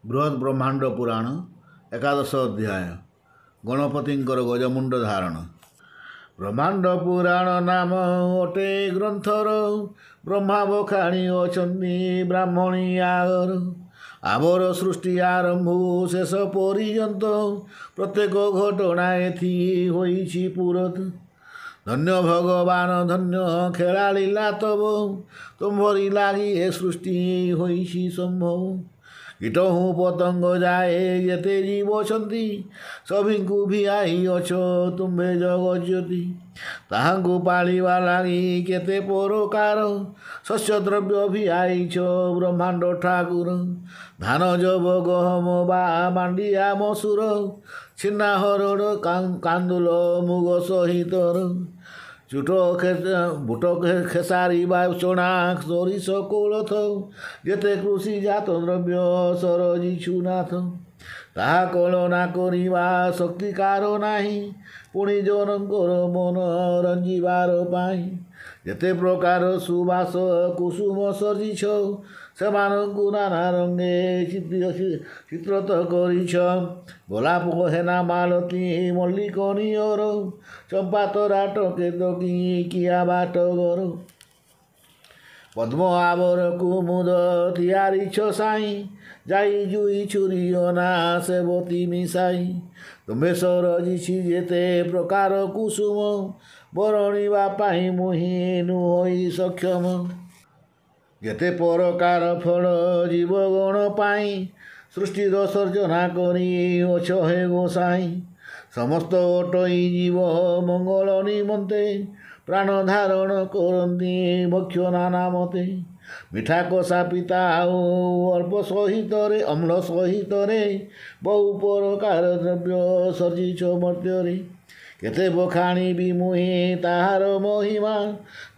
ବୃହତ୍ ବ୍ରହ୍ମାଣ୍ଡ ପୁରାଣ ଏକାଦଶ ଅଧ୍ୟାୟ, ଗଣପତିଙ୍କର ଗଜମୁଣ୍ଡ ଧାରଣ। ବ୍ରହ୍ମାଣ୍ଡ ପୁରାଣ ନାମ ଅଟେ ଗ୍ରନ୍ଥର, ବ୍ରହ୍ମା ବଖାଣି ଅଛନ୍ତି ବ୍ରାହ୍ମଣୀ ଆଗର। ଆବର ସୃଷ୍ଟି ଆରମ୍ଭ ଶେଷ ପର୍ଯ୍ୟନ୍ତ, ପ୍ରତ୍ୟେକ ଘଟଣା ଏଥି ହୋଇଛି ପୁରତ। ଧନ୍ୟ ଭଗବାନ ଧନ୍ୟ ଖେଳାଳିଲା ତବ, ତୁମ୍ଭରି ଲାଗି ଏ ସୃଷ୍ଟି ହୋଇଛି ସମ୍ଭବ। କୀଟହୁଁ ପତଙ୍ଗ ଯାଏ ଯେତେ ଜୀବ ଅଛନ୍ତି, ସଭିଙ୍କୁ ଭିଆଇ ଅଛ ତୁମ୍ଭେ ଜଗଜ୍ୟୋତି। ତାହାଙ୍କୁ ପାଳିବା ଲାଗି କେତେ ପ୍ରକାର ଶସ୍ୟ ଦ୍ରବ୍ୟ ଭିଆଇଛ ବ୍ରହ୍ମାଣ୍ଡ ଠାକୁର। ଧାନ ଯବ ଗହମ ବା ମାଣ୍ଡିଆ ମସୁର, ଛିନା ହରଡ଼ କାନ୍ଦୁଲ ମୁଗ ସହିତର। ଚୁଟ ବୁଟ ଖେସାରି ବା ଚଣା ସୋରିଷ କୋଳଥ, ଯେତେ କୃଷି ଜାତ ଦ୍ରବ୍ୟ ସରଜିଛୁ ନାଥ। ତାହା କଳନା କରିବା ଶକ୍ତି କାର ନାହିଁ, ପୁଣି ଜନଙ୍କର ମନ ରଞ୍ଜିବାର ପାଇଁ। ଯେତେ ପ୍ରକାର ସୁବାସ କୁସୁମ ସଜିଛ, ସେମାନଙ୍କୁ ନାନା ରଙ୍ଗେ ଚିତ୍ରତ କରିଛ। ଗୋଲାପ ହେନା ମାଳତୀ ମଲ୍ଲିକ ନିଅର, ଚମ୍ପା ତରାଟ କେତକୀ କିଆ ବାଟଘର। ପଦ୍ମ ଆବର କୁମୁଦ ତିଆରିଛ ସାଇଁ, ଯାଇ ଜୁଇ ଛୁରୀ ଅନା ସେବତୀ ମିଶାଇ। ତୁମ୍ଭେ ସରଜିଛି ଯେତେ ପ୍ରକାର କୁସୁମ, ବରଣିବା ପାଇଁ ମୁହିଁ ନୁହଇ ସକ୍ଷମ। ଯେତେ ପ୍ରକାର ଫଳ ଜୀବଗଣ ପାଇଁ, ସୃଷ୍ଟିର ସର୍ଜନା କରି ଅଛ ହେ ଗୋସାଇଁ। ସମସ୍ତ ଅଟଇ ଜୀବ ମଙ୍ଗଳ ନିମନ୍ତେ, ପ୍ରାଣ ଧାରଣ କରନ୍ତି ଭକ୍ଷ୍ୟ ନାନା ମତେ। ମିଠା କଷା ପିତା ଆଉ ଅଳ୍ପ ସହିତରେ ଅମ୍ଳ ସହିତରେ, ବହୁ ପ୍ରକାର ଦ୍ରବ୍ୟ ସର୍ଜିଛ ମର୍ତ୍ତ୍ୟରେ। କେତେ ବଖାଣିବି ମୁହିଁ ତାହାର ମହିମା,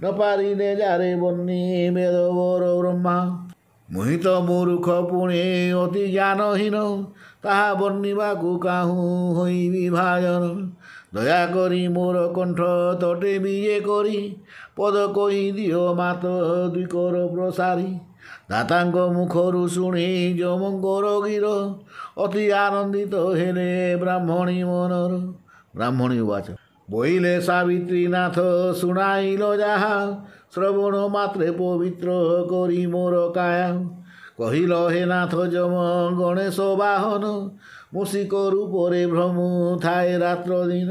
ନ ପାରିଲେ ଯାରେ ବର୍ଣ୍ଣି ବେଦବର ବ୍ରହ୍ମା। ମୁହିଁ ତ ମୂର୍ଖ ପୁଣି ଅତି ଜ୍ଞାନହୀନ, ତାହା ବର୍ଣ୍ଣିବାକୁ କାହୁଁ ହୋଇବି ଭାଜନ। ଦୟାକରି ମୋର କଣ୍ଠ ତଟେ ବିଜେ କରି, ପଦ କହି ଦିଅ ମାତ ଦ୍ୱିକର ପ୍ରସାରୀ। ଦାତାଙ୍କ ମୁଖରୁ ଶୁଣି ଯମଙ୍କର ଗିର, ଅତି ଆନନ୍ଦିତ ହେଲେ ବ୍ରାହ୍ମଣୀ ମନର। ବ୍ରାହ୍ମଣୀ ଉବାଚ, ବୋଇଲେ ସାବିତ୍ରୀ ନାଥ ଶୁଣାଇଲ ଯାହା, ଶ୍ରବଣ ମାତ୍ରେ ପବିତ୍ର କରି ମୋର କାୟା। କହିଲ ହେ ନାଥ ଯମ ଗଣେଶ ବାହନ, ମୂଷିକ ରୂପରେ ଭ୍ରମୁ ଥାଏ ରାତ୍ର ଦିନ।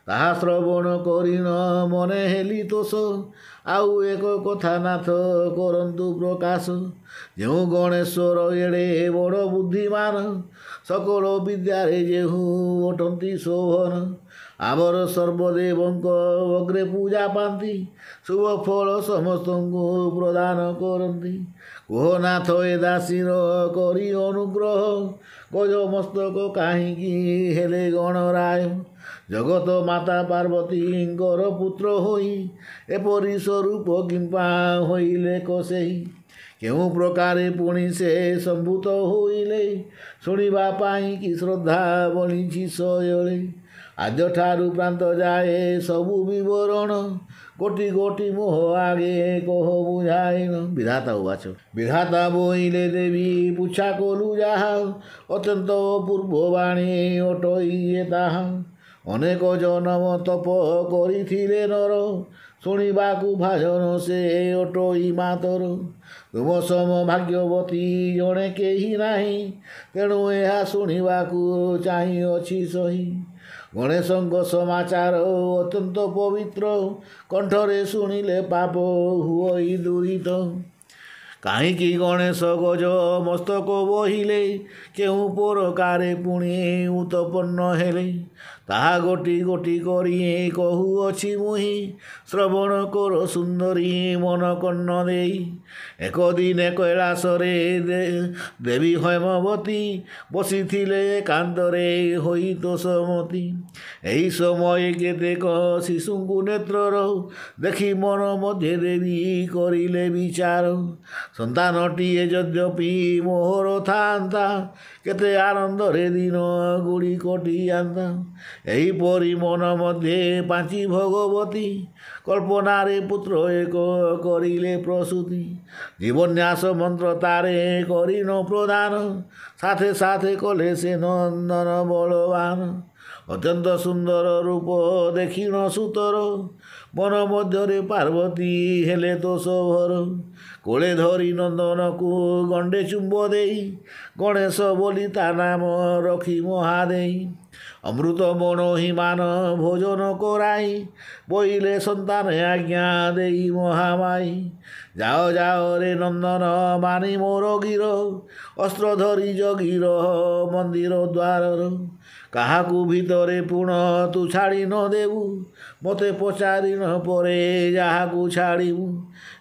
ତାହା ଶ୍ରବଣ କରିଣ ମନେ ହେଲି ତୋଷ, ଆଉ ଏକ କଥା ନାଥ କରନ୍ତୁ ପ୍ରକାଶ। ଯେଉଁ ଗଣେଶ୍ୱର ଏଡ଼େ ବଡ଼ ବୁଦ୍ଧିମାନ, ସକଳ ବିଦ୍ୟାରେ ଯେହୁ ଅଟନ୍ତି ଶୋଭନ। ଆମର ସର୍ବଦେବଙ୍କ ଅଗ୍ରେ ପୂଜା ପାନ୍ତି, ଶୁଭ ଫଳ ସମସ୍ତଙ୍କୁ ପ୍ରଦାନ କରନ୍ତି। କୁହ ନାଥ ଏ ଦାସୀର କରି ଅନୁଗ୍ରହ, ଗଜ ମସ୍ତକ କାହିଁକି ହେଲେ ଗଣରାୟ। ଜଗତ ମାତା ପାର୍ବତୀଙ୍କର ପୁତ୍ର ହୋଇ, ଏପରି ସ୍ୱରୂପ କିମ୍ପା ହୋଇଲେ କସେଇ। କେଉଁ ପ୍ରକାରେ ପୁଣି ସେ ସମ୍ଭୂତ ହୋଇଲେ, ଶୁଣିବା ପାଇଁ କି ଶ୍ରଦ୍ଧା ବଳିଛି ଶୟଳେ। ଆଦ୍ୟଠାରୁ ପ୍ରାନ୍ତ ଯାଏ ସବୁ ବିବରଣ, ଗୋଟି ଗୋଟି ମୋହ ଆଗେ କହ ବୁଝାଇନ। ବିଧାତା ଉବାଚ, ବିଧାତା ବୋଇଲେ ଦେବୀ ପୁଛା କଲୁ ଯାହା, ଅତ୍ୟନ୍ତ ଅପୂର୍ବ ବାଣୀ ଅଟଇ ଏ ତାହା। ଅନେକ ଜନମ ତପ କରିଥିଲେ ନର, ଶୁଣିବାକୁ ଭାଜନ ସେ ଅଟଇ ମାତର। ତୁମ ସମ ଭାଗ୍ୟବତୀ ଜଣେ କେହି ନାହିଁ, ତେଣୁ ଏହା ଶୁଣିବାକୁ ଚାହିଁଅଛି ସହି। ଗଣେଶଙ୍କ ସମାଚାର ଅତ୍ୟନ୍ତ ପବିତ୍ର, କଣ୍ଠରେ ଶୁଣିଲେ ପାପ ହୁଅଇ ଦୂରିତ। କାହିଁକି ଗଣେଶ ଗଜ ମସ୍ତକ ବହିଲେ, କେଉଁ ପ୍ରକାରେ ପୁଣି ଉତ୍ପନ୍ନ ହେଲେ। ତାହା ଗୋଟି ଗୋଟି କରି କହୁଅଛି ମୁହିଁ, ଶ୍ରବଣ କର ସୁନ୍ଦରୀ ମନ କର୍ଣ୍ଣ ଦେଇ। ଏକ ଦିନେ କୈଳାସରେ ଦେବୀ হৈମବତୀ, ବସିଥିଲେ ଏକାନ୍ତରେ ହୋଇ ତୋଷମତୀ। ଏହି ସମୟେ କେତେକ ଶିଶୁଙ୍କୁ ନେତ୍ରର ଦେଖି ମନ ମଧ୍ୟେ ଦେବୀ କରିଲେ ବିଚାର। ସନ୍ତାନଟିଏ ଯଦ୍ୟପି ମୋହର ଥାନ୍ତା, କେତେ ଆନନ୍ଦରେ ଦିନ ଗୁଡ଼ି କଟିଯାନ୍ତା। ଏହିପରି ମନ ମଧ୍ୟେ ପାଞ୍ଚି ଭଗବତୀ କଳ୍ପନାରେ ପୁତ୍ର ଏକ କରିଲେ ପ୍ରସୂତି। ଜୀବନ୍ୟାସ ମନ୍ତ୍ର ତାରେ କରିଣ ପ୍ରଦାନ ସାଥେ ସାଥେ କଲେ ସେ ନନ୍ଦନ ବଳବାନ। ଅତ୍ୟନ୍ତ ସୁନ୍ଦର ରୂପ ଦେଖିଣ ସୁତର ମନ ମଧ୍ୟରେ ପାର୍ବତୀ ହେଲେ ଦୋଷ ଭର। କୋଳେ ଧରି ନନ୍ଦନକୁ ଗଣ୍ଡେ ଚୁମ୍ବ ଦେଇ ଗଣେଶ ବୋଲି ତା ନାମ ରଖି ମହାଦେଇ। ଅମୃତ ମଣୋହିମାନ ଭୋଜନ କରାଇ ବୋଇଲେ ସନ୍ତାନ ଆଜ୍ଞା ଦେଇ ମହାମାଇ। ଯାଅ ଯାଅ ରେ ନନ୍ଦନ ମାନି ମୋର ଗିର ଅସ୍ତ୍ର ଧରି ଜଗି ରହ ମନ୍ଦିର ଦ୍ୱାରର। କାହାକୁ ଭିତରେ ପୁଣ ତୁ ଛାଡ଼ି ନ ଦେବୁ ମୋତେ ପଚାରି ନ ପରେ ଯାହାକୁ ଛାଡ଼ିବୁ।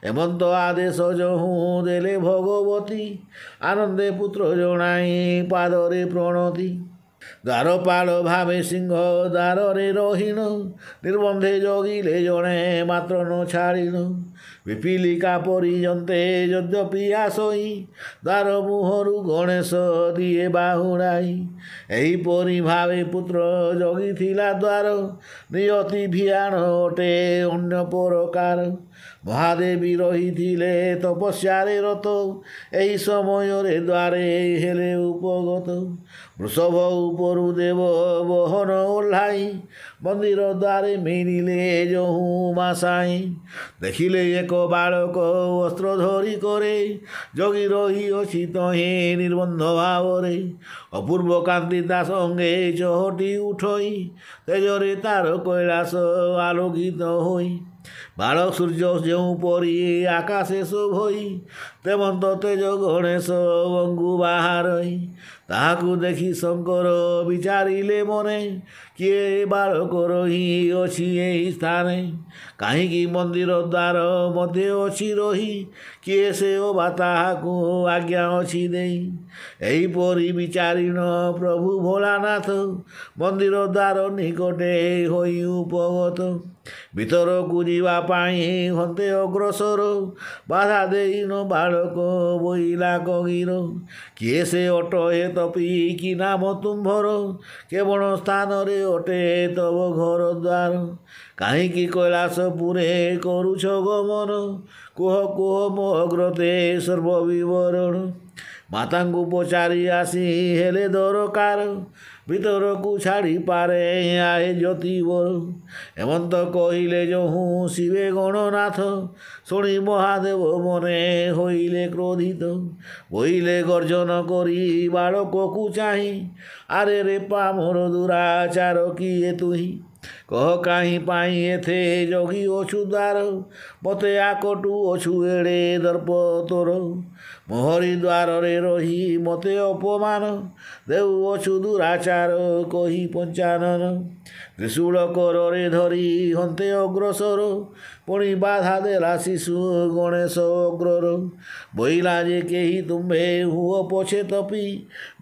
ଏମନ୍ତ ଆଦେଶ ଯହୁଁ ଦେଲେ ଭଗବତୀ ଆନନ୍ଦେ ପୁତ୍ର ଜଣାଇ ପାଦରେ ପ୍ରଣତି। ଦ୍ୱାରପାଳ ଭାବେ ସିଂହ ଦ୍ୱାରରେ ରହିଣ ନିର୍ବନ୍ଧେ ଜଗିଲେ ଜଣେ ମାତ୍ର ନ ଛାଡ଼ିଣ। ପିପିଲିକା ପରିଯନ୍ତେ ଯଦ୍ୟପି ଆସଇ ଦ୍ୱାର ମୁହଁରୁ ଗଣେଶ ଦିଏ ବାହୁଡ଼ାଇ। ଏହିପରି ଭାବେ ପୁତ୍ର ଜଗିଥିଲା ଦ୍ୱାର ନିୟତି ଭିଆଣ ଅଟେ ଅନ୍ୟ ପ୍ରକାର। ମହାଦେବୀ ରହିଥିଲେ ତପସ୍ୟାରେ ରତ ଏହି ସମୟରେ ଦ୍ୱାରେ ହେଲେ ଉପଗତ। ବୃଷଭ ଉପରୁ ଦେବ ବହନ ଓହ୍ଲାଇ ମନ୍ଦିର ଦ୍ୱାରେ ମିଳିଲେ ଯହୁଁ ମାସାଇ। ଦେଖିଲେ ଏକ ବାଳକ ଅସ୍ତ୍ର ଧରି କରେ ଜଗି ରହିଅଛି ତହିଁ ନିର୍ବନ୍ଧ ଭାବରେ। ଅପୂର୍ବ କାନ୍ତି ତା ସଙ୍ଗେ ଚହଟି ଉଠଇ ତେଜରେ ତାର କୈଳାସ ଆଲୋକିତ ହୋଇ। ବାଳ ସୂର୍ଯ୍ୟ ଯେଉଁପରି ଆକାଶେ ଶୋଭଇ ତେମନ୍ତ ତେଜ ଗଣେଶ ବଙ୍ଗୁ ବାହାରଇ। ତାହାକୁ ଦେଖି ଶଙ୍କର ବିଚାରିଲେ ମନେ କିଏ ବାଳକ ରହିଅଛି ଏହି ସ୍ଥାନେ। କାହିଁକି ମନ୍ଦିର ଦ୍ୱାର ମଧ୍ୟେ ଅଛି ରହି କିଏ ସେ ଅବା ତାହାକୁ ଆଜ୍ଞା ଅଛି ଦେଇ। ଏହିପରି ବିଚାରିଣ ପ୍ରଭୁ ଭୋଳାନାଥ ମନ୍ଦିର ଦ୍ୱାର ନିକଟେ ହୋଇ ଉପଗତ। ଭିତରକୁ ଯିବା ପାଇଁ ହନ୍ତେ ଅଗ୍ରସର ବାଧା ଦେଇନ ବାଳକ ବୋଇଲା କଗିର। କିଏ ସେ ଅଟ ହେ ତପି କି ନାମ ତୁମ୍ଭର କେବଳ ସ୍ଥାନରେ ଅଟେ ତବ ଘର ଦ୍ୱାର। କାହିଁକି କୈଳାସପୁରେ କରୁଛ ଗମନ କୁହ କୁହ ମୋ ଅଗ୍ରତେ ସର୍ବ ବିବରଣ। ମାତାଙ୍କୁ ପଚାରି ଆସି ହେଲେ ଦରକାର ଭିତରକୁ ଛାଡ଼ିପାରେ ଆହେ ଜ୍ୟୋତିବର। ଏମନ୍ତ କହିଲେ ଯହୁଁ ଶିବେ ଗଣନାଥ ଶୁଣି ମହାଦେବ ମନେ ହୋଇଲେ କ୍ରୋଧିତ। ବୋଇଲେ ଗର୍ଜନ କରି ବାଳକକୁ ଚାହିଁ ଆରେ ରେ ପାମର ଦୁରାଚାର କିଏ ତୁହି। କହ କାହିଁ ପାଇଁ ଏଥେ ଜଗି ଅଛୁ ଦ୍ୱାର ମୋତେ ଆକଟୁ ଅଛୁ ଏଡ଼େ ଦର୍ପ ତୋର। ମୋହରି ଦ୍ୱାରରେ ରହି ମୋତେ ଅପମାନ ଦେଉଅଛୁ ଦୁରାଚାର କହି ପଞ୍ଚାନନ। ତ୍ରିଶୂଳ କରରେ ଧରି ହନ୍ତେ ଅଗ୍ରସର ପୁଣି ବାଧା ଦେଲା ଶିଶୁ ଗଣେଶ ଅଗ୍ରର। ବୋଇଲା ଯେ କେହି ତୁମ୍ଭେ ହୁଅ ପଛେ ତପି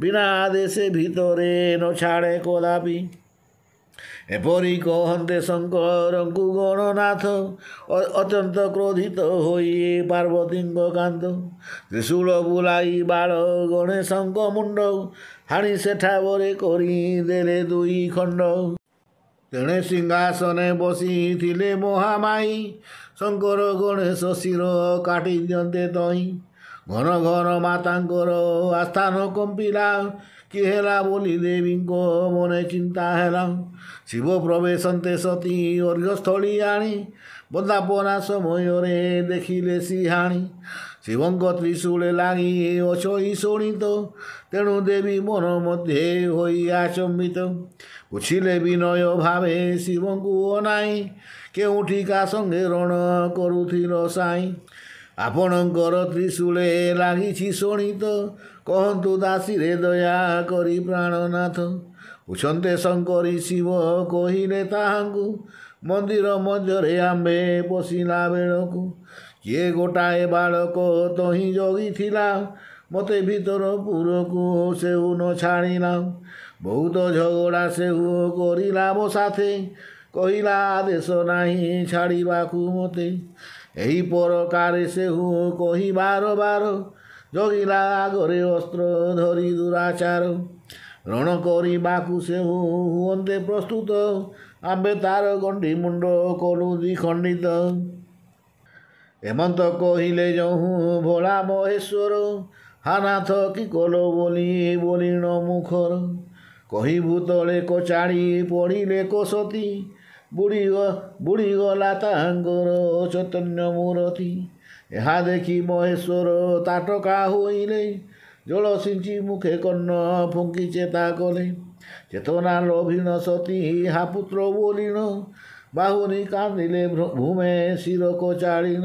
ବିନା ଆଦେଶେ ଭିତରେ ନ ଛାଡ଼େ କଦାପି। ଏପରି କହନ୍ତେ ଶଙ୍କରଙ୍କୁ ଗଣନାଥ ଅତ୍ୟନ୍ତ କ୍ରୋଧିତ ହୋଇ ପାର୍ବତୀଙ୍କ କାନ୍ତ। ତ୍ରିଶୂଳ ବୁଲାଇ ବାଳ ଗଣେଶଙ୍କ ମୁଣ୍ଡ ହାଣି ସେଠାବରେ କରିଦେଲେ ଦୁଇ ଖଣ୍ଡ। ତେଣେ ସିଂହାସନେ ବସିଥିଲେ ମହାମାଇ ଶଙ୍କର ଗଣେଶ ଶିର କାଟି ଦିଅନ୍ତେ ତହିଁ। ଘନ ଘନ ମାତାଙ୍କର ଆସ୍ଥାନ କମ୍ପିଲା କି ହେଲା ବୋଲି ଦେବୀଙ୍କ ମନେ ଚିନ୍ତା ହେଲା। ଶିବ ପ୍ରବେଶନ୍ତେ ସତୀ ଅର୍ଘ୍ୟସ୍ଥଳୀ ଆଣି ବନ୍ଦାପନା ସମୟରେ ଦେଖିଲେ ସିହାଣୀ। ଶିବଙ୍କ ତ୍ରିଶୂଳେ ଲାଗି ଅଛଇ ଶୋଣିତ ତେଣୁ ଦେବୀ ମନ ମଧ୍ୟେ ହୋଇ ଆଚମ୍ବିତ। ପୁଛିଲେ ବିନୟ ଭାବେ ଶିବଙ୍କୁ ଅନାଇ କେଉଁଠି କା ସଙ୍ଗେ ରଣ କରୁଥିଲ ସାଇଁ। ଆପଣଙ୍କର ତ୍ରିଶୂଳେ ଲାଗିଛି ଶୋଣିତ କହନ୍ତୁ ଦାସୀରେ ଦୟା କରି ପ୍ରାଣନାଥ। ପୁଛନ୍ତେ ଶଙ୍କରୀ ଶିବ କହିଲେ ତାହାଙ୍କୁ ମନ୍ଦିର ମଧ୍ୟରେ ଆମ୍ଭେ ପଶିଲା ବେଳକୁ। କିଏ ଗୋଟାଏ ବାଳକ ତହିଁ ଜଗିଥିଲା ମୋତେ ଭିତର ପୁରକୁ ସେହୁ ନ ଛାଡ଼ିଲା। ବହୁତ ଝଗଡ଼ା ସେହୁ କରିଲା ମୋ ସାଥେ କହିଲା ଆଦେଶ ନାହିଁ ଛାଡ଼ିବାକୁ ମୋତେ। ଏହି ପରକାରେ ସେହୁ କହି ବାର ବାର ଜଗିଲା ଆଗରେ ଅସ୍ତ୍ର ଧରି ଦୁରାଚାର। ରଣ କରିବାକୁ ସେ ହୁଅନ୍ତେ ପ୍ରସ୍ତୁତ, ଆମ୍ଭେ ତାର ଗଣ୍ଡି ମୁଣ୍ଡ କଲୁ ଦ୍ୱିଖଣ୍ଡିତ। ଏମନ୍ତ କହିଲେ ଯହୁଁ ଭୋଳା ମହେଶ୍ୱର, ହାନାଥ କି କଲ ବୋଲି ବୋଲିଣ ମୁଖର। କହି ଭୂତଳେ କଚାଡ଼ି ପଡ଼ିଲେ କୋଶତୀ, ବୁଡ଼ିଗଲା ତାଙ୍କର ଚୈତନ୍ୟ ମୂରତି। ଏହା ଦେଖି ମହେଶ୍ୱର ତାଟକା ହୋଇଲେ, ଜଳ ସିଞ୍ଚି ମୁଖେ କର୍ଣ୍ଣ ଫୁଙ୍କି ଚେତା କଲେ। ଚେତନା ଲଭିଣ ସତୀ ହା ପୁତ୍ର ବୋଲିଣ, ବାହୁନି କାନ୍ଦିଲେ ଭୂମେ ଶିର କଚାଳିଣ।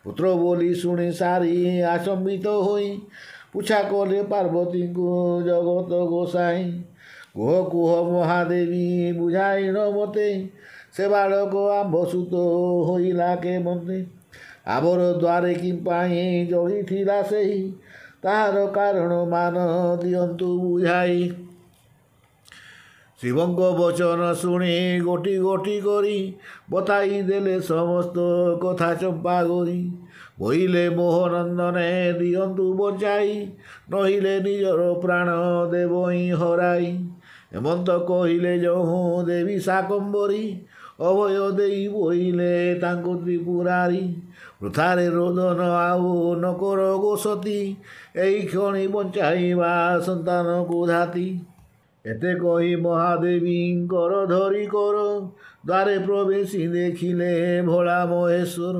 ପୁତ୍ର ବୋଲି ଶୁଣି ସାରି ଆଚମ୍ବିତ ହୋଇ, ପୁଛା କଲେ ପାର୍ବତୀଙ୍କୁ ଜଗତ ଗୋସାଇଁ। କୁହ କୁହ ମହାଦେବୀ ବୁଝାଇଣ ମତେ, ସେ ବାଳକ ଆମ୍ଭ ସୁତ ହୋଇଲା କେମନ୍ତେ। ଆବର ଦ୍ୱାରେ କି ପାଇଁ ଜଗିଥିଲା ସେହି, ତାହାର କାରଣ ମାନ ଦିଅନ୍ତୁ ବୁଝାଇ। ଶିବଙ୍କ ବଚନ ଶୁଣି ଗୋଟି ଗୋଟି କରି, ବତାଇ ଦେଲେ ସମସ୍ତ କଥା ଚମ୍ପାଗୋରି। ବୋଇଲେ ମୋହନନ୍ଦନେ ଦିଅନ୍ତୁ ବଞ୍ଚାଇ, ନହିଲେ ନିଜର ପ୍ରାଣ ଦେବହିଁ ହରାଇ। ଏମନ୍ତ କହିଲେ ଯହୁଁ ଦେବୀ ଶାକମ୍ବରୀ, ଅଭୟ ଦେଇ ବୋଇଲେ ତାଙ୍କୁ ତ୍ରିପୁରାରୀ। ବୃଥାରେ ରୋଦନ ଆଉ ନ କର ଗୋସତୀ, ଏଇ କ୍ଷଣି ବଞ୍ଚାଇବା ସନ୍ତାନକୁ ଧାତି। ଏତେ କହି ମହାଦେବୀଙ୍କର ଧରି କର, ଦ୍ୱାରେ ପ୍ରବେଶି ଦେଖିଲେ ଭୋଳା ମହେଶ୍ୱର।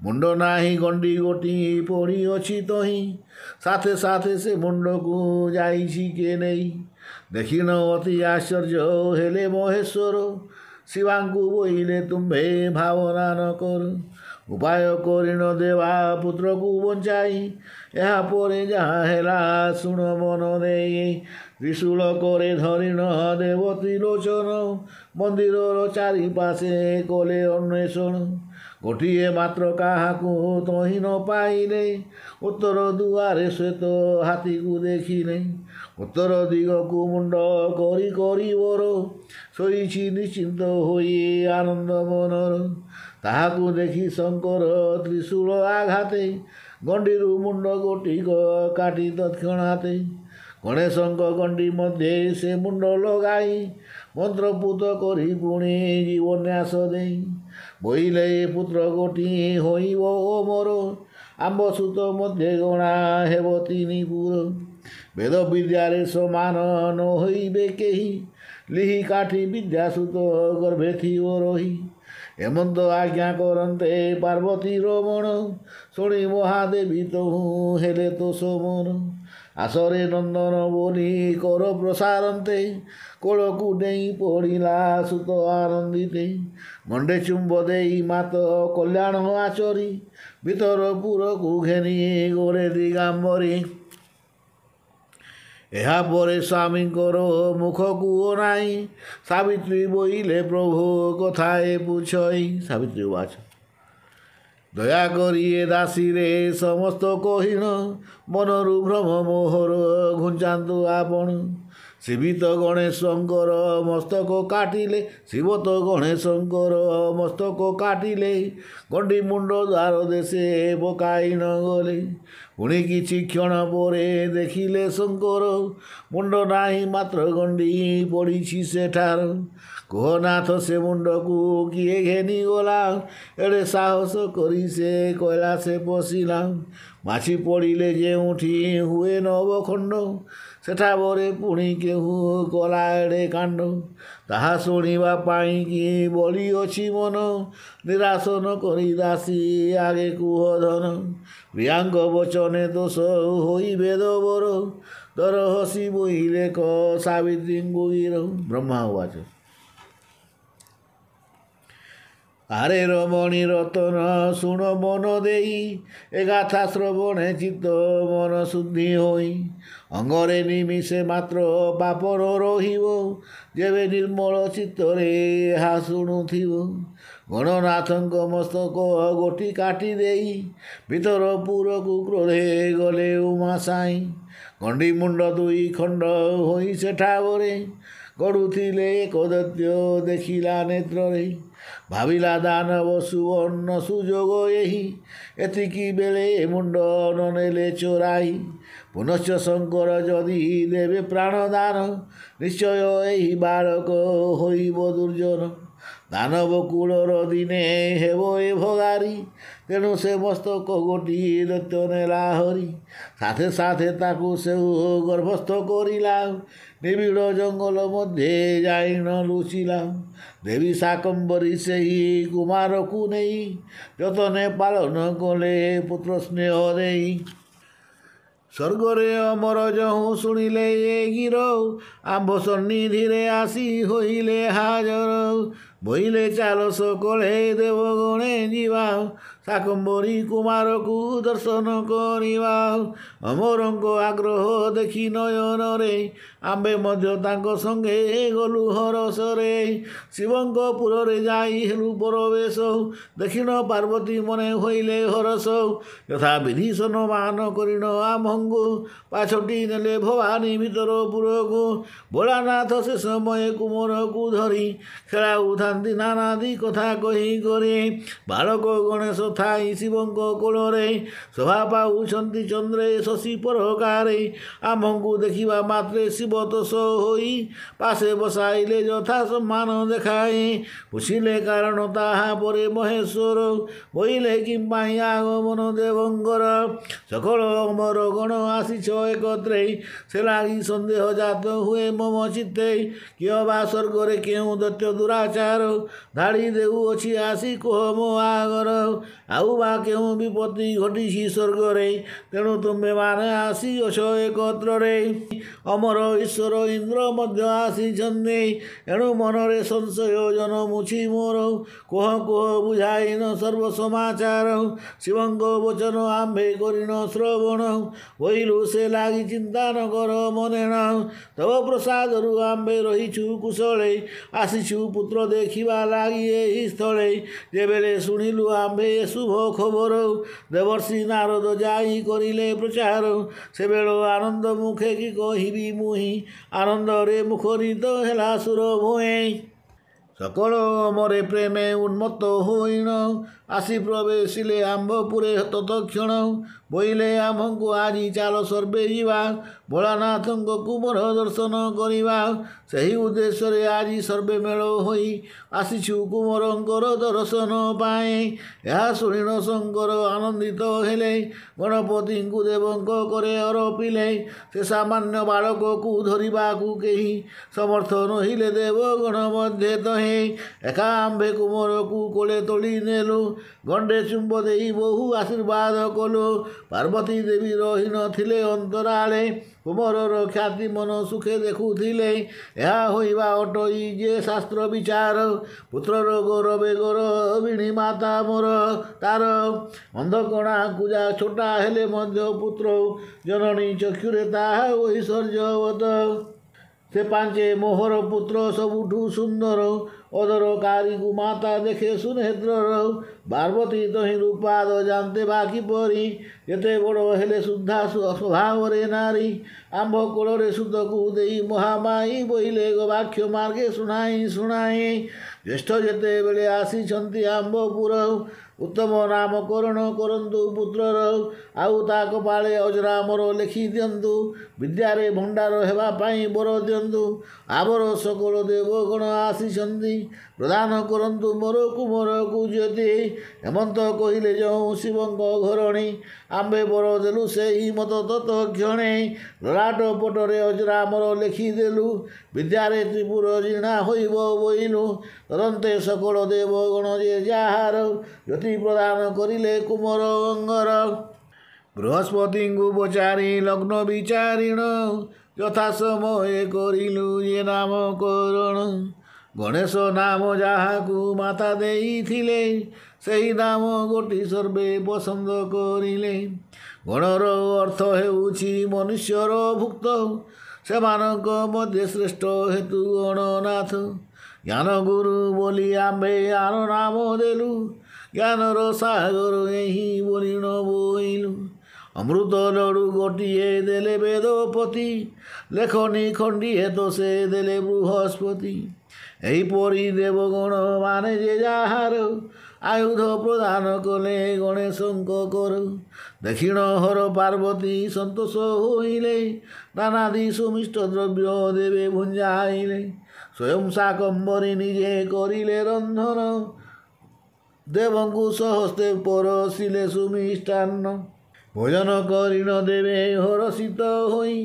ମୁଣ୍ଡ ନାହିଁ ଗଣ୍ଡି ଗୋଟି ପଡ଼ିଅଛି ତହିଁ, ସାଥେ ସାଥେ ସେ ମୁଣ୍ଡକୁ ଯାଇଛି କେ ନେଇ। ଦେଖିଣ ଅତି ଆଶ୍ଚର୍ଯ୍ୟ ହେଲେ ମହେଶ୍ୱର, ଶିବାଙ୍କୁ ବୋଇଲେ ତୁମ୍ଭେ ଭାବନା ନ କର। ଉପାୟ କରିଣ ଦେବା ପୁତ୍ରକୁ ବଞ୍ଚାଇ, ଏହା ପରେ ଯାହା ହେଲା ଶୁଣ ମନ ଦେଇ। ତ୍ରିଶୂଳ କରେ ଧରିଣ ଦେବ ତ୍ରିଲୋଚନ, ମନ୍ଦିରର ଚାରିପାଶେ କଲେ ଅନ୍ୱେଷଣ। ଗୋଟିଏ ମାତ୍ର କାହାକୁ ତହିଁ ନ ପାଇଲେ, ଉତ୍ତର ଦୁଆରେ ଶ୍ୱେତ ହାତୀକୁ ଦେଖିଲେ। ଉତ୍ତର ଦିଗକୁ ମୁଣ୍ଡ କରି କରି ବର, ଶୋଇଛି ନିଶ୍ଚିନ୍ତ ହୋଇ ଆନନ୍ଦ ମନର। ତାହାକୁ ଦେଖି ଶଙ୍କର ତ୍ରିଶୂଳ ଆଘାତେ, ଗଣ୍ଡିରୁ ମୁଣ୍ଡ ଗୋଟିକ କାଟି ତତ୍କ୍ଷଣାତେ। ଗଣେଶଙ୍କ ଗଣ୍ଡି ମଧ୍ୟେ ସେ ମୁଣ୍ଡ ଲଗାଇ, ମନ୍ତ୍ରପୁତ କରି ପୁଣି ଜୀବନ୍ୟାସ ଦେଇ। ବୋଇଲେ ଏ ପୁତ୍ର ଗୋଟି ହୋଇବ ଓ ମୋର, ଆମ୍ବ ସୁତ ମଧ୍ୟେ ଗଣା ହେବ ତିନି ପୁର। ବେଦ ବିଦ୍ୟାରେ ସମାନ ନ ହୋଇବେ କେହି, ଲିହି କାଠି ବିଦ୍ୟା ସୁତ ଗର୍ଭେ ଥିବ ରହି। ଏମନ୍ତ ଆଜ୍ଞା କରନ୍ତେ ପାର୍ବତୀ ରମଣ, ଶୁଣି ମହାଦେବୀ ତହୁଁ ହେଲେ ତୋଷ ମନ। ଆସରେ ନନ୍ଦନ ବୋଲି କର ପ୍ରସାରନ୍ତେ, କୋଳକୁ ଡେଇଁ ପଡ଼ିଲା ସୁତ ଆନନ୍ଦିତେ। ଗଣ୍ଡେ ଚୁମ୍ବ ଦେଇ ମାତ କଲ୍ୟାଣ ଆଚରି, ଭିତର ପୁରକୁ ଘେନି ଗୋରେ ଦିଗାମ୍ବରୀ। ଏହାପରେ ସ୍ୱାମୀଙ୍କର ମୁଖକୁ ଅନାଇ, ସାବିତ୍ରୀ ବୋଇଲେ ପ୍ରଭୁ କଥା ଏ ପୁଛଇ। ସାବିତ୍ରୀ ଉବାଚ, ଦୟାକରି ଏ ଦାସୀରେ ସମସ୍ତ କହିଣ, ମନରୁ ଭ୍ରମ ମୋହର ଘୁଞ୍ଚାନ୍ତୁ ଆପଣ। ଶିବିତ ଗଣେଶଙ୍କର ମସ୍ତକ କାଟିଲେ, ଶିବ ତ ଗଣେଶଙ୍କର ମସ୍ତକ କାଟିଲେ, ଗଣ୍ଡି ମୁଣ୍ଡ ଦ୍ୱାର ଦେଶେ ପକାଇ ନ ଗଲେ। ପୁଣି କିଛି କ୍ଷଣ ପରେ ଦେଖିଲେ ଶଙ୍କର, ମୁଣ୍ଡ ନାହିଁ ମାତ୍ର ଗଣ୍ଡି ପଡ଼ିଛି ସେଠାର। କୁହନାଥ ସେ ମୁଣ୍ଡକୁ କିଏ ଘେନି ଗଲା, ଏଡ଼େ ସାହସ କରି ସେ କୈଳାସେ ପଶିଲା। ମାଛି ପଡ଼ିଲେ ଯେଉଁଠି ହୁଏ ନବଖଣ୍ଡ, ସେଠା ପରେ ପୁଣି କେହୁ କଲା ଏଡ଼େ କାଣ୍ଡ। ତାହା ଶୁଣିବା ପାଇଁ କି ବଳି ଅଛି ମନ, ନିରାଶ ନ କରି ଦାସୀ ଆଗେ କୁହ ଧନ। ପ୍ରିୟାଙ୍କ ବଚନେ ଦୋଷ ହୋଇ ବେଦବର, ଦର ହସି ବୋଇଲେ କ ସାବିତ୍ରୀଙ୍କୁ ଗିର। ବ୍ରହ୍ମା ଉବାଚ, ଆରେ ରମଣୀ ରତନ ଶୁଣ ମନ ଦେଇ, ଏ ଗାଥା ଶ୍ରବଣେ ଚିତ୍ତ ମନ ଶୁଦ୍ଧି ହୋଇ। ଅଙ୍ଗରେ ନିମିଷେ ମାତ୍ର ପାପର ରହିବ, ଯେବେ ନିର୍ମଳ ଚିତ୍ତରେ ଏହା ଶୁଣୁଥିବ। ଗଣନାଥଙ୍କ ମସ୍ତକ ଗୋଟି କାଟି ଦେଇ, ଭିତର ପୁରକୁ କ୍ରୋଧେ ଗଲେ ଉମା ସାଇଁ। ଗଣ୍ଡି ମୁଣ୍ଡ ଦୁଇ ଖଣ୍ଡ ହୋଇ ସେଠାବରେ, ଗଡ଼ୁଥିଲେ ଏକ ଦୈତ୍ୟ ଦେଖିଲା ନେତ୍ରରେ। ଭାବିଲା ଦାନବ ସୁବର୍ଣ୍ଣ ସୁଯୋଗ ଏହି, ଏତିକି ବେଳେ ମୁଣ୍ଡ ନ ନେଲେ ଚୋରାଇ। ପୁନଶ୍ଚ ଶଙ୍କର ଯଦି ଦେବେ ପ୍ରାଣଦାନ, ନିଶ୍ଚୟ ଏହି ବାଳକ ହୋଇବ ଦୁର୍ଜନ। ଦାନବ କୂଳର ଦିନେ ହେବ ଏ ଭଗାରୀ, ତେଣୁ ସେ ମସ୍ତକ ଗୋଟିଏ ଦୈତ୍ୟ ନେଲା ହରି। ସାଥେ ସାଥେ ତାକୁ ସେଉ ଗର୍ଭସ୍ଥ କରିଲା, ନିବିଡ଼ ଜଙ୍ଗଲ ମଧ୍ୟେ ଯାଇଣ ଲୁଚିଲା। ଦେବୀ ଶାକମ୍ବରୀ ସେହି କୁମାରକୁ ନେଇ ଯତନେ ପାଳନ କଲେ ପୁତ୍ର ସ୍ନେହ ଦେଇ। ସ୍ୱର୍ଗରେ ଅମର ଯହୁଁ ଶୁଣିଲେ ଏ ଗୀର, ଆମ୍ଭ ସନ୍ନିଧିରେ ଆସି ହୋଇଲେ ହାଜର। ବୋଇଲେ ଚାଲ ସକଳେ ଦେବଗଣେ ଯିବା, ଶାକମ୍ବରୀ କୁମାରକୁ ଦର୍ଶନ କରିବା। ଅମରଙ୍କ ଆଗ୍ରହ ଦେଖି ନୟନରେ, ଆମ୍ଭେ ମଧ୍ୟ ତାଙ୍କ ସଙ୍ଗେ ଗଲୁ ହରସରେ। ଶିବଙ୍କ ପୁରରେ ଯାଇ ହେଲୁ ପରବେଶ, ଦେଖିଣ ପାର୍ବତୀ ମନେ ହୋଇଲେ ହରସ। ଯଥା ବିଧି ସମ୍ମାନ କରିଣ ଆମ୍ଭଙ୍କୁ, ପାଛୋଟି ନେଲେ ଭବାନୀ ଭିତର ପୁରକୁ। ଭୋଳାନାଥ ସେ ସମୟ କୁମରକୁ ଧରି ଖେଳାଉଥାନ୍ତି ନାନାଦି କଥା କହି କରି। ବାଳକ ଗଣେଶ ଥାଇ ଶିବଙ୍କ କୋଳରେ, ଶୋଭା ପାଉଛନ୍ତି ଚନ୍ଦ୍ରେ ଶଶୀ ପରକାରେ। ଆମ୍ଭଙ୍କୁ ଦେଖିବା ମାତ୍ରେ ଶିବ ତୋଷ ହୋଇ ପାଶେ ବସାଇଲେ ଯଥା ସମ୍ମାନ ଦେଖାଇ। ପୁଛିଲେ କାରଣ ତାହା ପରେ ମହେଶ୍ୱର, ବୋଇଲେ କିମ୍ପାଇଁ ଆଗମନ ଦେବଙ୍କର। ସକଳ ଅମର ଗଣ ଆସିଛ ଏକତ୍ରେ, ସେ ଲାଗି ସନ୍ଦେହ ଜାତ ହୁଏ ମମ ଚିତ୍ତେ। କିଏ ବା ସ୍ୱର୍ଗରେ କେଉଁ ଦୈତ୍ୟ ଦୁରାଚାର ଧାଡ଼ି ଦେଉଅଛି ଆସି କୁହ ମୋ ଆଗର। ଆଉ ବା କେଉଁ ବିପତ୍ତି ଘଟିଛି ସ୍ୱର୍ଗରେ, ତେଣୁ ତୁମ୍ଭେମାନେ ଆସିଅଛ ଏକତ୍ରରେ। ଅମର ଈଶ୍ୱର ଇନ୍ଦ୍ର ମଧ୍ୟ ଆସିଛନ୍ତି, ଏଣୁ ମନରେ ସଂଶୟ ଜନମୁଛି ମୋର। କୁହ କୁହ ବୁଝାଇନ ସର୍ବ ସମାଚାର, ଶିବଙ୍କ ବଚନ ଆମ୍ଭେ କରିଣ ଶ୍ରବଣ। ବୋଇଲୁ ସେ ଲାଗି ଚିନ୍ତା ନ କର ମନେଣ, ତବ ପ୍ରସାଦରୁ ଆମ୍ଭେ ରହିଛୁ କୁଶଳେ। ଆସିଛୁ ପୁତ୍ର ଦେଖିବା ଲାଗି ଏହି ସ୍ଥଳେ, ଯେବେଳେ ଶୁଣିଲୁ ଆମ୍ଭେ ଏ ଶୁଭ ଖବର। ଦେବର୍ଷି ନାରଦ ଯାଇ କରିଲେ ପ୍ରଚାର, ସେବେଳ ଆନନ୍ଦ ମୁଖେ କି କହିବି ମୁହିଁ। ଆନନ୍ଦରେ ମୁଖରିତ ହେଲା ସୁର ଭୂଇଁ। ସକଳ ଅମରେ ପ୍ରେମେ ଉନ୍ମତ୍ତ ହୋଇଣ, ଆସି ପ୍ରବେଶିଲେ ଆମ୍ଭପୁରେ ତତକ୍ଷଣ। ବୋଇଲେ ଆମ୍ଭଙ୍କୁ ଆଜି ଚାଲ ସର୍ବେ ଯିବା, ଭୋଳାନାଥଙ୍କ କୁମର ଦର୍ଶନ କରିବା। ସେହି ଉଦ୍ଦେଶ୍ୟରେ ଆଜି ସର୍ବେ ମେଳ ହୋଇ ଆସିଛୁ କୁମରଙ୍କର ଦର୍ଶନ ପାଇଁ। ଏହା ଶୁଣିଣ ଶଙ୍କର ଆନନ୍ଦିତ ହେଲେ, ଗଣପତିଙ୍କୁ ଦେବଙ୍କ କରେ ଅରପିଲେ। ସେ ସାମାନ୍ୟ ବାଳକକୁ ଧରିବାକୁ କେହି ସମର୍ଥ ନୋହିଲେ ଦେବଗଣ ମଧ୍ୟେ ତହିଁ। ଏକା ଆମ୍ଭେ କୁମରକୁ କୋଳେ ତୋଳି ନେଲୁ, ଗଣ୍ଡେ ଚୁମ୍ବ ଦେଇ ବହୁ ଆଶୀର୍ବାଦ କଲୁ। ପାର୍ବତୀ ଦେବୀ ରହି ନଥିଲେ ଅନ୍ତରାଳେ, କୁମରର ଖ୍ୟାତି ମନ ସୁଖେ ଦେଖୁଥିଲେ। ଏହା ହୋଇବା ଅଟଇ ଯେ ଶାସ୍ତ୍ର ବିଚାର, ପୁତ୍ରର ଗୌରବେ ଗୌରବିଣୀ ମାତା ମୋର ତାର। ଅନ୍ଧକଣା କୁଜା ଛୋଟା ହେଲେ ମଧ୍ୟ ପୁତ୍ର, ଜନନୀ ଚକ୍ଷୁରେ ତାହା ଐଶ୍ୱର୍ଯ୍ୟବତ। ସେ ପାଞ୍ଚେ ମୋହର ପୁତ୍ର ସବୁଠୁ ସୁନ୍ଦର, ଅଦର କାରିକୁ ମାତା ଦେଖେ ସୁନେତ୍ରର। ପାର୍ବତୀ ତହିଁ ରୂପାଦ ଜାନ୍ତେ ବା କିପରି, ଯେତେ ବଡ଼ ହେଲେ ସୁଦ୍ଧା ସ୍ୱଭାବରେ ନାରୀ। ଆମ୍ଭ କୋଳରେ ସୁତକୁ ଦେଇ ମହାମାୟୀ, ବୋଇଲେ ଗବାକ୍ଷ ମାର୍ଗେ ଶୁଣାଇ ଶୁଣାଇ। ଜ୍ୟେଷ୍ଠ ଯେତେବେଳେ ଆସିଛନ୍ତି ଆମ୍ଭପୁର, ଉତ୍ତମ ନାମକରଣ କରନ୍ତୁ ପୁତ୍ରର। ଆଉ ତା କପାଳେ ଅଜରାମର ଲେଖି ଦିଅନ୍ତୁ, ବିଦ୍ୟାରେ ଭଣ୍ଡାର ହେବା ପାଇଁ ବର ଦିଅନ୍ତୁ। ଆବର ସକଳ ଦେବଗଣ ଆସିଛନ୍ତି, ପ୍ରଦାନ କରନ୍ତୁ ମୋର କୁମରକୁ ଜ୍ୟୋତି। ହେମନ୍ତ କହିଲେ ଯେଉଁ ଶିବଙ୍କ ଘରଣୀ, ଆମ୍ଭେ ବର ଦେଲୁ ସେହି ମତ ତତକ୍ଷଣେ। ଲଲାଟ ପଟରେ ଅଜରାମର ଲେଖିଦେଲୁ, ବିଦ୍ୟାରେ ତ୍ରିପୁର ଜିଣା ହୋଇବ ବୋଇଲୁ। ତଦନ୍ତେ ସକଳ ଦେବଗଣ ଯେ ଯାହାର, ଜ୍ୟୋତି ପ୍ରଦାନ କରିଲେ କୁମର ଅଙ୍ଗର। ବୃହସ୍ପତିଙ୍କୁ ପଚାରି ଲଗ୍ନ ବିଚାରିଣ, ଯଥା ସମୟେ କରିଲୁ ଯେ ନାମକରଣ। ଗଣେଶ ନାମ ଯାହାକୁ ମାତା ଦେଇଥିଲେ, ସେହି ନାମ ଗୋଟି ସର୍ବେ ପସନ୍ଦ କରିଲେ। ଗଣର ଅର୍ଥ ହେଉଛି ମନୁଷ୍ୟର ଭୁକ୍ତ, ସେମାନଙ୍କ ମଧ୍ୟେ ଶ୍ରେଷ୍ଠ ହେତୁ ଗଣନାଥ। ଜ୍ଞାନଗୁରୁ ବୋଲି ଆମ୍ଭେ ଆର ନାମ ଦେଲୁ, ଜ୍ଞାନର ସାଗର ଏହି ବୋଲିଣ ବୋଇଲୁ। ଅମୃତ ଲଡ଼ୁ ଗୋଟିଏ ଦେଲେ ବେଦପତି, ଲେଖନୀ ଖଣ୍ଡିଏ ତ ସେ ଦେଲେ ବୃହସ୍ପତି। ଏହିପରି ଦେବଗଣ ମାନେ ଯେ ଯାହାର, ଆୟୁଧ ପ୍ରଦାନ କଲେ ଗଣେଶଙ୍କ କର। ଦକ୍ଷିଣ ହର ପାର୍ବତୀ ସନ୍ତୋଷ ହୋଇଲେ, ନାନାଦି ସୁମିଷ୍ଟ ଦ୍ରବ୍ୟ ଦେବେ ଭୁଞ୍ଜାଇଲେ। ସ୍ୱୟଂ ଶାକମ୍ବରୀ ନିଜେ କରିଲେ ରନ୍ଧନ, ଦେବଙ୍କୁ ସହସ୍ତେ ପରସିଲେ ସୁମିଷ୍ଟାନ୍ନ। ଭୋଜନ କରିଣ ଦେବେ ହରଷିତ ହୋଇ,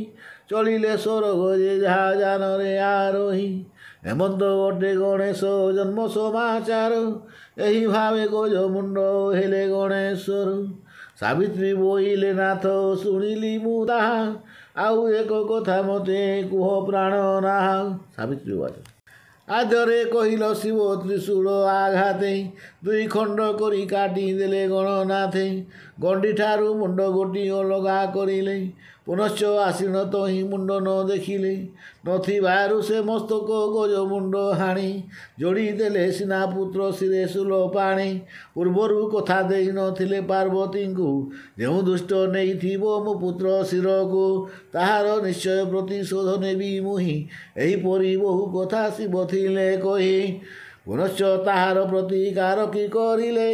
ଚଳିଲେ ସ୍ୱର୍ଗ ଯେ ଯାହା ଯାନରେ ଆରୋହୀ। ହେମନ୍ତ ଅଟେ ଗଣେଶ ଜନ୍ମ ସମାଚାର, ଏହି ଭାବେ ଗଜ ମୁଣ୍ଡ ହେଲେ ଗଣେଶ୍ୱର। ସାବିତ୍ରୀ ବୋଇଲେ ନାଥ ଶୁଣିଲି ମୁଁ ତାହା, ଆଉ ଏକ କଥା ମତେ କୁହ ପ୍ରାଣ ନାହା। ସାବିତ୍ରୀ ବାଚ। ଆଦ୍ୟରେ କହିଲ ଶିବ ତ୍ରିଶୂଳ ଆଘାତେ, ଦୁଇ ଖଣ୍ଡ କରି କାଟି ଦେଲେ ଗଣନାଥେ। ଗଣ୍ଡିଠାରୁ ମୁଣ୍ଡ ଗୋଟି ଅଲଗା କରିଲେ, ପୁନଶ୍ଚ ଆସିଣ ତହିଁ ମୁଣ୍ଡ ନ ଦେଖିଲେ। ନଥିବାରୁ ସେ ମସ୍ତକ ଗଜ ମୁଣ୍ଡ ହାଣି, ଯୋଡ଼ି ଦେଲେ ସିନା ପୁତ୍ର ଶିରେ ଶୂଲ ପାଣି। ପୂର୍ବରୁ କଥା ଦେଇ ନଥିଲେ ପାର୍ବତୀଙ୍କୁ, ଯେଉଁ ଦୁଷ୍ଟ ନେଇଥିବ ମୋ ପୁତ୍ର ଶିରକୁ, ତାହାର ନିଶ୍ଚୟ ପ୍ରତିଶୋଧ ନେବି ମୁହିଁ। ଏହିପରି ବହୁ କଥା ଶିବ ଥିଲେ କହି, ପୁନଶ୍ଚ ତାହାର ପ୍ରତିକାର କି କରିଲେ,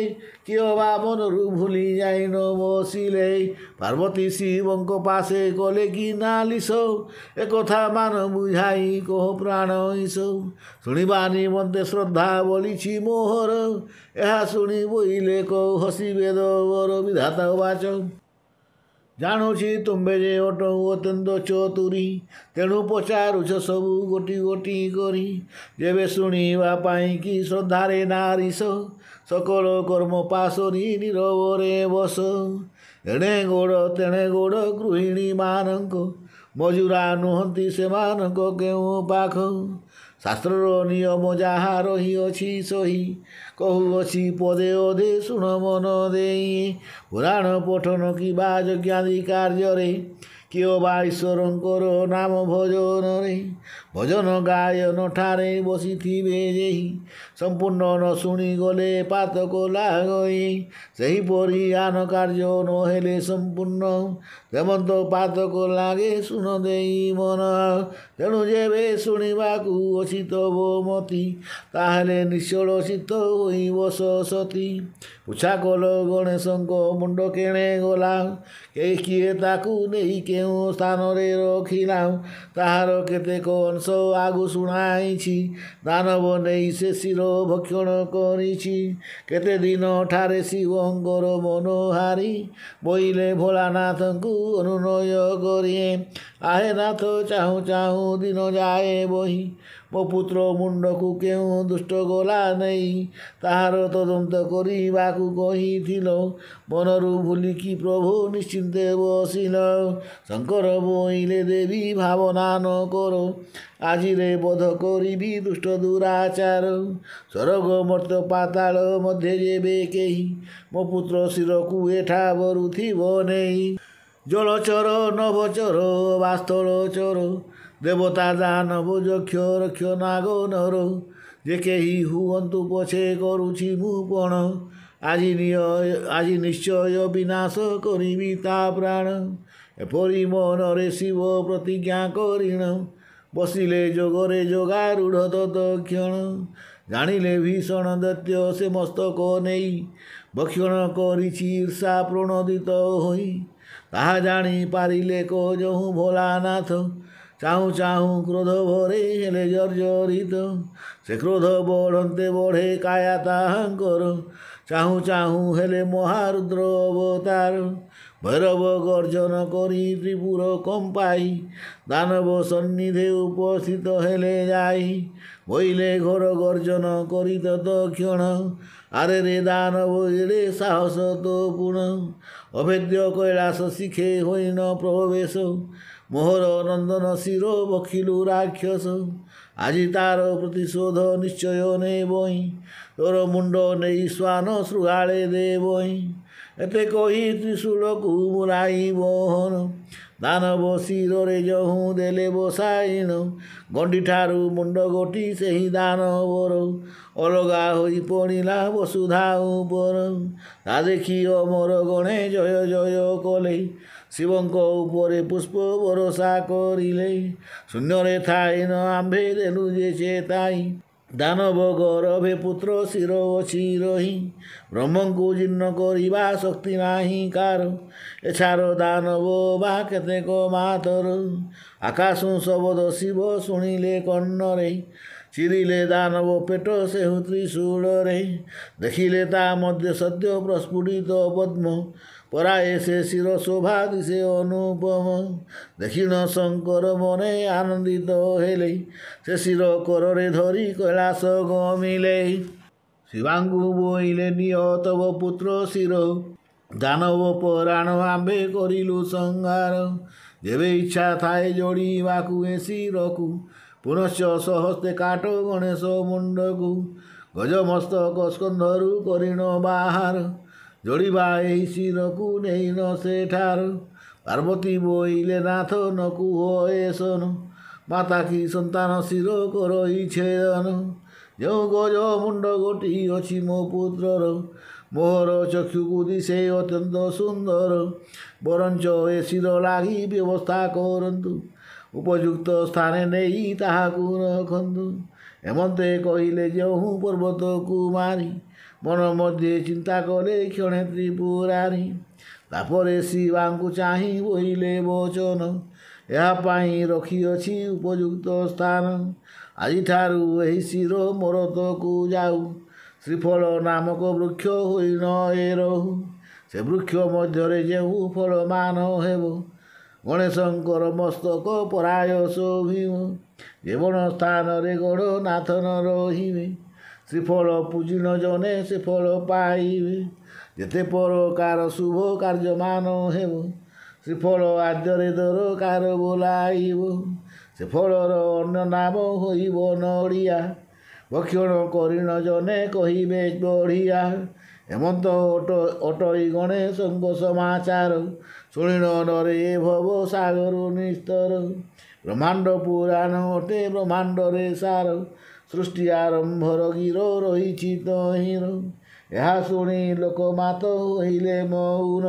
କିଏ ବା ମନରୁ ଭୁଲି ଯାଇ ନ ବସିଲେ। ପାର୍ବତୀ ଶିବଙ୍କ ପାଶେ କଲେ କି ନାଲିସ, ଏକଥା ମାନ ବୁଝାଇ କହ ପ୍ରାଣ ଈଶ। ଶୁଣିବା ନିମନ୍ତେ ଶ୍ରଦ୍ଧା ବଳିଛି ମୋହର, ଏହା ଶୁଣି ବୋଇଲେ କହ ହସି ବେଦ ବର। ବିଧାତା ବାଚ। ଜାଣୁଛି ତୁମ୍ଭେ ଯେ ଅଟ ଅତ୍ୟନ୍ତ ଚତୁରୀ, ତେଣୁ ପଚାରୁଛ ସବୁ ଗୋଟି ଗୋଟି କରି। ଯେବେ ଶୁଣିବା ପାଇଁ କି ଶ୍ରଦ୍ଧାରେ ନାରିସ, ସକଳ କର୍ମ ପାଶୋରି ନୀରବରେ ବସ। ଏଣେ ଗୋଡ଼ ତେଣେ ଗୋଡ଼ ଗୃହିଣୀମାନଙ୍କ, ମଜୁରା ନୁହନ୍ତି ସେମାନଙ୍କ କେଉଁ ପାଖ। ଶାସ୍ତ୍ରର ନିୟମ ଯାହା ରହିଅଛି ସହି, କହୁଅଛି ପଦେ ଅଧେ ଶୁଣ ମନ ଦେଇ। ପୁରାଣ ପଠନ କିବା ଯଜ୍ଞାଦି କାର୍ଯ୍ୟରେ, କିଏ ବା ଈଶ୍ୱରଙ୍କର ନାମ ଭଜନରେ, ଭଜନ ଗାୟନ ଠାରେ ବସିଥିବେ ଯେହି, ସମ୍ପୂର୍ଣ୍ଣ ନ ଶୁଣିଗଲେ ପାତକ ଲାଗଇ। ସେହିପରି ଆନ କାର୍ଯ୍ୟ ନହେଲେ ସମ୍ପୂର୍ଣ୍ଣ, ତେମନ୍ତ ପାତକ ଲାଗେ ଶୁଣ ଦେଇ ମନ। ତେଣୁ ଯେବେ ଶୁଣିବାକୁ ଅଛି ତବ ମତି, ତାହେଲେ ନିଶ୍ଚଳ ଚିତ୍ତ ହୋଇ ବସ ସତୀ। ପୁଛା କଲ ଗଣେଶଙ୍କ ମୁଣ୍ଡ କେଣେ ଗଲା, କିଏ ତାକୁ ନେଇ କେଉଁ ସ୍ଥାନରେ ରଖିଲା, ତାହାର କେତେକ ଅଂଶ ଆଗୁ ଶୁଣାଇଛି। ଦାନବ ନେଇ ସେ ଶିର ଭକ୍ଷଣ କରିଛି। କେତେ ଦିନ ଠାରେ ଶିବଙ୍କର ମନୋହାରୀ, ବୋଇଲେ ଭୋଳାନାଥଙ୍କୁ ଅନୁନୟ କରି। ଆହେ ନାଥ ଚାହୁଁ ଚାହୁଁ ଦିନ ଯାଏ ବହି, ମୋ ପୁତ୍ର ମୁଣ୍ଡକୁ କେଉଁ ଦୁଷ୍ଟ ଗଲା ନେଇ, ତାହାର ତଦନ୍ତ କରିବାକୁ କହିଥିଲ। ମନରୁ ଭୁଲିକି ପ୍ରଭୁ ନିଶ୍ଚିନ୍ତେ ବସିଲ। ଶଙ୍କର ବୋଇଲେ ଦେବୀ ଭାବନା ନ କର, ଆଜିରେ ବଧ କରିବି ଦୁଷ୍ଟ ଦୁରାଚାର। ସ୍ୱର୍ଗ ମର୍ତ୍ତ୍ୟ ପାତାଳ ମଧ୍ୟେ ଯେବେ କେହି, ମୋ ପୁତ୍ର ଶିରକୁ ଏଠା ବରୁଥିବ ନେଇ। ଜଳଚର ନଭଚର ବାସ୍ତଳ ଚର, ଦେବତା ଦାନବ ଯକ୍ଷ ରକ୍ଷ ନାଗ ନର, ଯେ କେହି ହୁଅନ୍ତୁ ପଛେ କରୁଛି ମୁଁ ପଣ। ଆଜି ନିଶ୍ଚୟ ବିନାଶ କରିବି ତା ପ୍ରାଣ। ଏପରି ମନରେ ଶିବ ପ୍ରତିଜ୍ଞା କରିଣ, ବସିଲେ ଯୋଗରେ ଯୋଗାରୂଢ଼ ତତକ୍ଷଣ। ଜାଣିଲେ ଭୀଷଣ ଦୈତ୍ୟ ସେ ମସ୍ତକ ନେଇ, ଭକ୍ଷଣ କରିଛି ଈର୍ଷା ପ୍ରଣୋଦିତ ହୋଇ। ତାହା ଜାଣି ପାରିଲେ ଯହୁଁ ଭୋଳାନାଥ, ଚାହୁଁ ଚାହୁଁ କ୍ରୋଧ ଭରେ ହେଲେ ଜର୍ଜରିତ। ସେ କ୍ରୋଧ ବଢ଼ନ୍ତେ ବଢ଼େ କାୟା ତାହାଙ୍କର, ଚାହୁଁ ଚାହୁଁ ହେଲେ ମହାରୁଦ୍ର ଅବତାର। ଭୈରବ ଗର୍ଜନ କରି ତ୍ରିପୁର କମ୍ପାଇ, ଦାନବ ସନ୍ନିଧେ ଉପସ୍ଥିତ ହେଲେ ଯାଇ। ବୋଇଲେ ଘୋର ଗର୍ଜନ କରି ତତକ୍ଷଣ, ଆରେ ରେ ଦାନବ ଏଡ଼େ ସାହସ ତୋ ପୁଣ। ଅଭେଦ୍ୟ କୈଳାସ ଶିଖେ ହୋଇନ ପ୍ରବେଶ, ମୋହର ନନ୍ଦନ ଶିର ବଖିଲୁ ରାକ୍ଷସ। ଆଜି ତାର ପ୍ରତିଶୋଧ ନିଶ୍ଚୟ ନେବଇଁ, ତୋର ମୁଣ୍ଡ ନେଇ ଶ୍ୱାନ ଶୃଗାଳେ ଦେବଇଁ। ଏତେ କହି ତ୍ରିଶୂଳକୁ ମୁରାଇ ବହନ, ଦାନବ ଶିରରେ ଯହୁଁ ଦେଲେ ବସାଇଣ। ଗଣ୍ଡିଠାରୁ ମୁଣ୍ଡ ଗୋଟି ସେହି ଦାନବର, ଅଲଗା ହୋଇ ପଡ଼ିଲା ବସୁଧା ଉପର। ତା ଦେଖି ଅମର ଗଣେ ଜୟ ଜୟ କଲେ, ଶିବଙ୍କ ଉପରେ ପୁଷ୍ପ ବରଷା କରିଲେ। ଶୂନ୍ୟରେ ଥାଇ ନ ଆମ୍ଭେ ଦେଲୁ ଯେ ଚେତାଇ, ଦାନବ ଗରଭେ ପୁତ୍ର ଶିର ଅଛି ରହି, ବ୍ରହ୍ମଙ୍କୁ ଜୀର୍ଣ୍ଣ କରିବା ଶକ୍ତି ନାହିଁ କାର। ଏଛାର ଦାନବ ବା କେତେକ ମାତର। ଆକାଶ ଶବଦ ଶିବ ଶୁଣିଲେ କର୍ଣ୍ଣରେ, ଚିରିଲେ ଦାନବ ପେଟ ସେହୁ ତ୍ରିଶୂଳରେ। ଦେଖିଲେ ତା ମଧ୍ୟ ସଦ୍ୟ ପ୍ରସ୍ଫୁଟିତ ପଦ୍ମ, ପରାଏ ସେ ଶିର ଶୋଭା ଦିଶେ ଅନୁପମ। ଦେଖିଣ ଶଙ୍କର ମନେ ଆନନ୍ଦିତ ହେଲେ, ସେ ଶିର କରରେ ଧରି କୈଳାସ ଗମିଲେ। ଶିବାଙ୍କୁ ବୋଇଲେ ନିଅ ତବ ପୁତ୍ର ଶିର, ଦାନବ ପରାଣ ଆମ୍ଭେ କରିଲୁ ସଂହାର। ଯେବେ ଇଚ୍ଛା ଥାଏ ଯୋଡ଼ିବାକୁ ଏ ଶିରକୁ, ପୁନଶ୍ଚ ସହସ୍ତେ କାଟ ଗଣେଶ ମୁଣ୍ଡକୁ। ଗଜମସ୍ତକ ସ୍କନ୍ଧରୁ କରିଣ ବାହାର, ଯୋଡ଼ିବା ଏହି ଶିରକୁ ନେଇନ ସେଠାର। ପାର୍ବତୀ ବୋଇଲେ ନାଥ ନ କୁହ ଏସନ, ମାତା କି ସନ୍ତାନ ଶିର କରଇ ଛେଦନ। ଯେଉଁ ଗଜ ମୁଣ୍ଡ ଗୋଟି ଅଛି ମୋ ପୁତ୍ରର, ମୋହର ଚକ୍ଷୁକୁ ଦିଶେ ଅତ୍ୟନ୍ତ ସୁନ୍ଦର। ବରଞ୍ଚ ଏ ଶିର ଲାଗି ବ୍ୟବସ୍ଥା କରନ୍ତୁ, ଉପଯୁକ୍ତ ସ୍ଥାନେ ନେଇ ତାହାକୁ ରଖନ୍ତୁ। ଏମନ୍ତେ କହିଲେ ଯେଉଁ ପର୍ବତକୁ ମାରି, ମନ ମଧ୍ୟେ ଚିନ୍ତା କଲେ କ୍ଷଣେ ତ୍ରିପୁରାରୀ। ତାପରେ ଶିବାଙ୍କୁ ଚାହିଁ ବୋଇଲେ ବଚନ, ଏହା ପାଇଁ ରଖିଅଛି ଉପଯୁକ୍ତ ସ୍ଥାନ। ଆଜିଠାରୁ ଏହି ଶିର ମରତକୁ ଯାଉ, ଶ୍ରୀଫଳ ନାମକ ବୃକ୍ଷ ହୋଇ ନ ଏ ରହୁ। ସେ ବୃକ୍ଷ ମଧ୍ୟରେ ଯେଉଁ ଫଳମାନ ହେବ, ଗଣେଶଙ୍କର ମସ୍ତକ ପରାୟ ଶୋଭିବ। ଯେବଣ ସ୍ଥାନରେ ଗଣନାଥ ନ ରହିବେ, ଶ୍ରୀଫଳ ପୂଜିନ ଜନେ ସେ ଫଳ ପାଇବେ। ଯେତେ ପ୍ରକାର ଶୁଭ କାର୍ଯ୍ୟମାନ ହେବ, ଶ୍ରୀଫଳ ଆଦ୍ୟରେ ଦରକାର ବୋଲାଇବ। ସେ ଫଳର ଅନ୍ୟ ନାମ ହୋଇବ ନଡ଼ିଆ, ଭକ୍ଷଣ କରିଣ ଜନେ କହିବେ ବଢ଼ିଆ। ହେମନ୍ତ ଅଟଇ ଗଣେଶଙ୍କ ସମାଚାର, ଶୁଣିଣ ନରେ ଏ ଭବ ସାଗରୁ ନିସ୍ତର। ବ୍ରହ୍ମାଣ୍ଡ ପୁରାଣ ଅଟେ ବ୍ରହ୍ମାଣ୍ଡରେ ସାର, ସୃଷ୍ଟି ଆରମ୍ଭର ଗିର ରହିଛି ତହିଁର। ଏହା ଶୁଣି ଲୋକମାତ ହୋଇଲେ ମଉନ,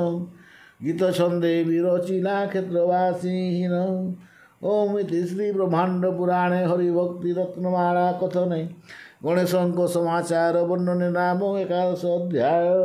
ଗୀତ ଛନ୍ଦେ ବିରଚିଲା କ୍ଷେତ୍ରବାସୀହୀନ। ଓମ୍ ଇତି ଶ୍ରୀ ବ୍ରହ୍ମାଣ୍ଡ ପୁରାଣେ ହରିଭକ୍ତି ରତ୍ନମାଳା କଥନେ ଗଣେଶଙ୍କ ସମାଚାର ବର୍ଣ୍ଣନେ ନାମ ଏକାଦଶ ଅଧ୍ୟାୟ।